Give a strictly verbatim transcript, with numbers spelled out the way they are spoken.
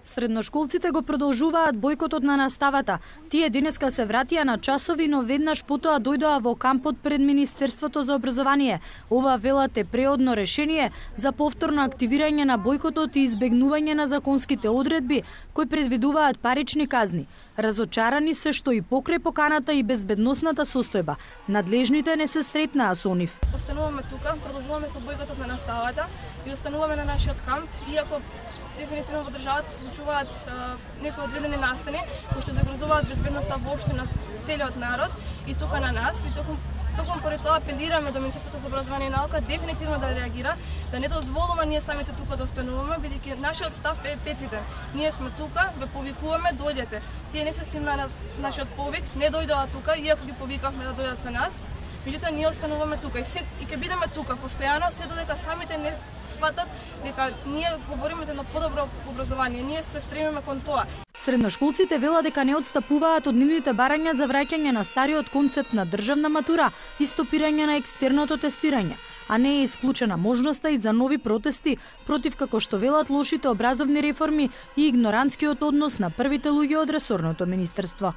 Средношколците го продолжуваат бојкотот на наставата. Тие денеска се вратија на часови, но веднаш потоа дојдоа во кампот пред Министерството за образование. Ова велат е преодно решение за повторно активирање на бојкотот и избегнување на законските одредби кои предвидуваат парични казни. Разочарани се што и покрај поканата и безбедносната состојба, надлежните не се сретнаа со нив. Остануваме тука, продолжуваме со бојкотот на наставата и остануваме на нашиот камп, иако дефинитивно во државата се случуваат некои одредени настани кои што загрозуваат безбедноста воопшто на целиот народ и тука на нас. И токму Токму поради тоа апелираме до Министерството за образование и наука дефинитивно да реагира, да не дозволува ние самите тука да остануваме, бидејќи нашиот став е пеците. Ние сме тука, ве повикуваме, дојдете. Тие не се симна на нашиот повик, не дојдоа тука, иако ги повикавме да дојдат со нас. Меѓутоа ние остануваме тука и се и ќе бидеме тука постојано, се додека самите не сватат дека ние говориме за едно подобро образование. Ние се стремиме кон тоа. Средношколците велат дека не отстапуваат од нивните барања за враќање на стариот концепт на државна матура и стопирање на екстерното тестирање, а не е исклучена можноста и за нови протести против, како што велат, лошите образовни реформи и игнорантскиот однос на првите луѓе од ресорното министерство.